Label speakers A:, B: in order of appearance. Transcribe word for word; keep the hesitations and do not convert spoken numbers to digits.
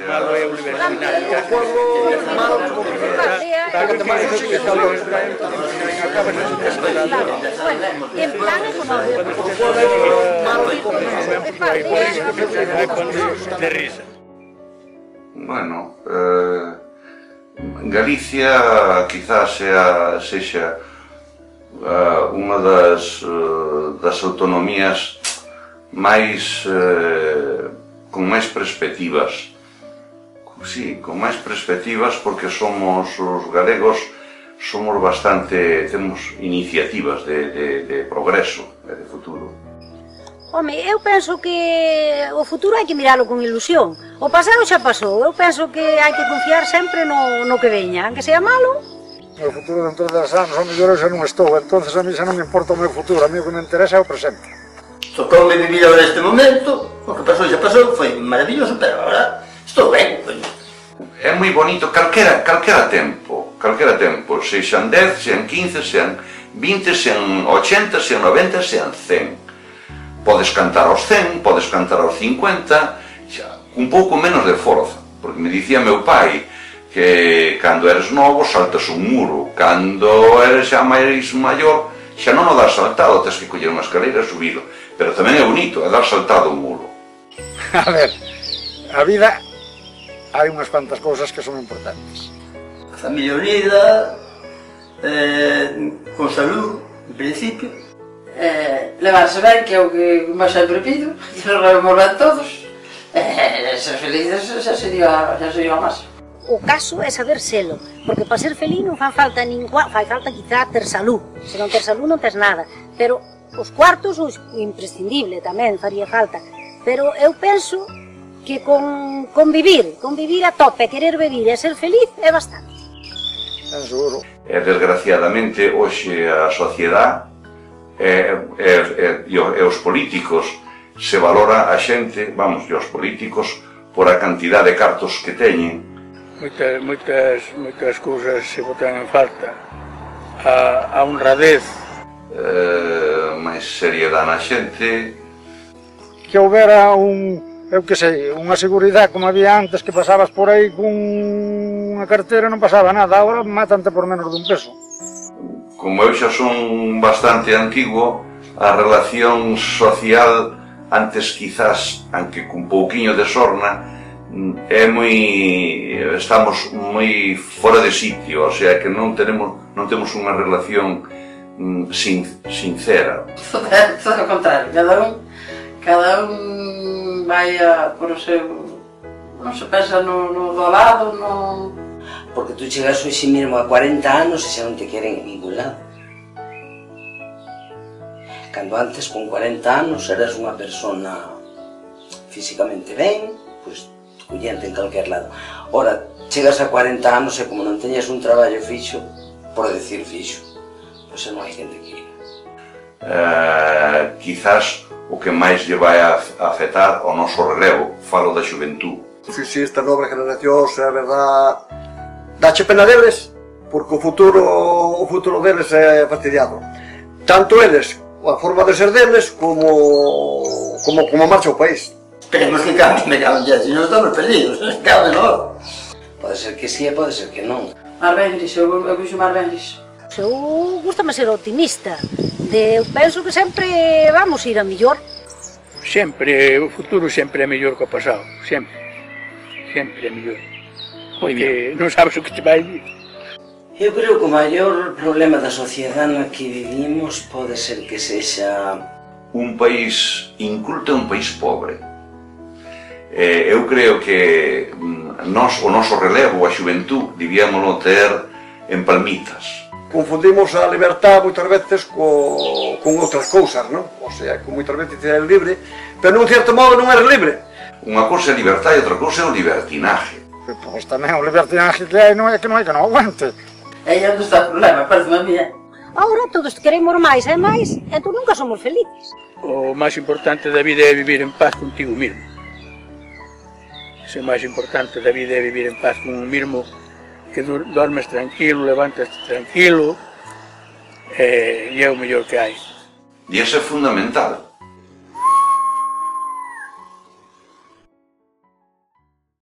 A: Malo é a universidade.
B: En plan económico.
A: De risa.
C: Bueno, eh, Galicia quizás sea, sexa uh, unha das, uh, das autonomías máis uh, con máis perspectivas. Sí, con máis perspectivas porque somos os galegos, somos bastante, temos iniciativas de, de, de progreso e de futuro.
B: Home, eu penso que o futuro hai que miralo con ilusión. O pasado xa pasou, eu penso que hai que confiar sempre no, no que veña, aunque sea malo.
D: O futuro dentro de dez anos, ao mellor eu xa non estou, entonces a mí xa non me importa o meu futuro, a mí o que me interesa é o presente.
E: Tocoume vivir agora neste momento, o que pasou xa pasou, foi maravilloso, pero agora estou ben.
C: É moi bonito calquera, calquera tempo, calquera tempo, sexan dez, sean quince, sean vinte, sean ochenta, sean noventa, sean cen. Podes cantar aos cen, podes cantar aos cincuenta, xa, un pouco menos de forza, porque me dicía meu pai que cando eres novo saltas un muro, cando eres xa máis maior xa non o das saltado, tens que coller unha escalera e subilo, pero tamén é bonito, é dar saltado o muro.
D: A ver, a vida hai unhas cuantas cousas que son importantes.
E: A familia unida, eh, con salud, en principio.
F: Eh, levarse ben, que é o que máis sempre pido, que nos levemos ben todos, eh, ser felices xa sería, xa sería máis.
B: O caso é saber selo, porque para ser feliz non fan falta ningua, fai falta quizá ter salud, se non ter salud non tes nada, pero os cuartos son imprescindible tamén, faría falta, pero eu penso que con, con vivir, con vivir a tope, querer vivir e ser feliz é bastante.
D: É seguro.
C: E desgraciadamente hoxe a sociedade E, e, e, e os políticos se valora a xente, vamos, e os políticos por a cantidad de cartos que teñen.
A: Moitas, moitas, moitas cousas se botan en falta. A, a honradez.
C: Eh, máis seriedade na xente.
D: Que houbera un, eu que sei, unha seguridade como había antes, que pasabas por aí con unha cartera e non pasaba nada, agora matante por menos dun peso.
C: Como eu xa son bastante antigo, a relación social antes quizás, aunque cun pouquiño de sorna, é moi, estamos moi fora de sitio, o sea que non tenemos, non temos unha relación sin, sincera.
F: Todo o contrario, cada un, cada un vai a por o seu, non se pensa no, no do lado, no...
G: Porque tú chegas hoxe mesmo a cuarenta anos e xa non te queren en ningún lado. Cando antes, con cuarenta anos, eras unha persona físicamente ben, pois collente en calquer lado. Ora, chegas a cuarenta anos e como non teñas un traballo fixo, por decir fixo, pois non hai xente que ir.
C: Uh, quizás o que máis lle vai a afectar ao noso relevo, falo da xuventud.
H: Si, si, esta nova generación, é verdad, dache pena deles, porque o futuro, o futuro deles é fastidiado. Tanto eles, a forma de ser deles, como, como, como marcha o país.
E: Esperemos que cambie, me cago en Dios, si non estamos perdidos, cabe no.
G: Pode ser que sí e pode ser que non.
F: Mar ben gris, eu, eu vixo mar ben gris.
B: Eu gustame ser optimista, de, eu penso que sempre vamos ir a mellor.
A: Sempre, o futuro sempre é mellor que o pasado, sempre, sempre é mellor. Porque non sabes o que te vai vir.
G: Eu creo que o maior problema da sociedade na que vivimos pode ser que sexa...
C: Un país inculto é un país pobre. Eh, eu creo que nos, o noso relevo, a xuventud, debíamoslo ter en palmitas.
H: Confundimos a libertad moitas veces co, con outras cousas, non? O sea, que moitas veces eres libre, pero nun certo modo non eres libre.
C: Unha cousa é libertad e outra cousa é o libertinaje.
D: Pois tamén o libertinaje que hai non é que non hai que non aguante.
F: Aí onde está o problema, parece a mía.
B: Agora todos queremos máis e máis, entón nunca somos felices.
A: O máis importante da vida é vivir en paz contigo mesmo. O máis importante da vida é vivir en paz con un mesmo, que dormes tranquilo, levantas tranquilo, e é o mellor que hai.
C: E iso é fundamental.